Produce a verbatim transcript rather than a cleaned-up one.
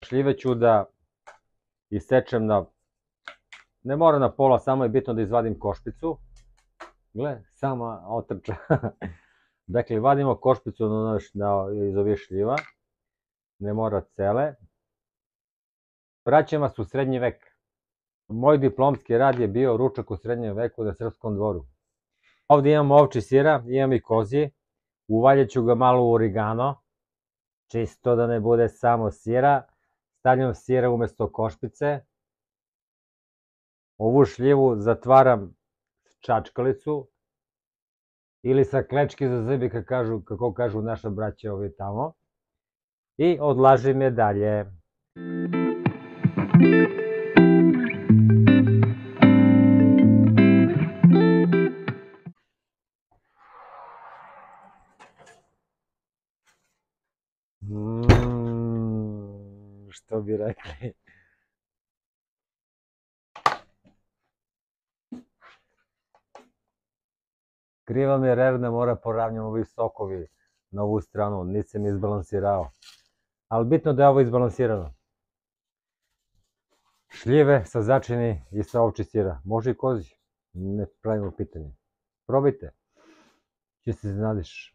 Šljive ću da isečem na, ne mora na pola, samo je bitno da izvadim košpicu. Gle, sama otrča. Dakle, vadimo košpicu iz ovih šljiva, ne mora cele. Vraćam vas u srednji vek. Moj diplomski rad je bio ručak u srednjem veku na Srpskom dvoru. Ovdje imam ovči sira, imam i kozji. Uvaljet ću ga malo u origano, čisto da ne bude samo sira. Stavljam sira umjesto košpice. Ovu šljivu zatvaram čačkalicu ili sa klečki za zube, kako kažu naša braća ovi tamo. I odlažim je dalje. Što bi rekli? Kriva mi je revna, mora poravnjam ovi sokovi na ovu stranu, nisam izbalansirao. Ali bitno da je ovo izbalansirano. Šljive sa začini i sa ovči sira. Može i kozji, ne pravimo pitanje. Probajte, će se iznenadiš.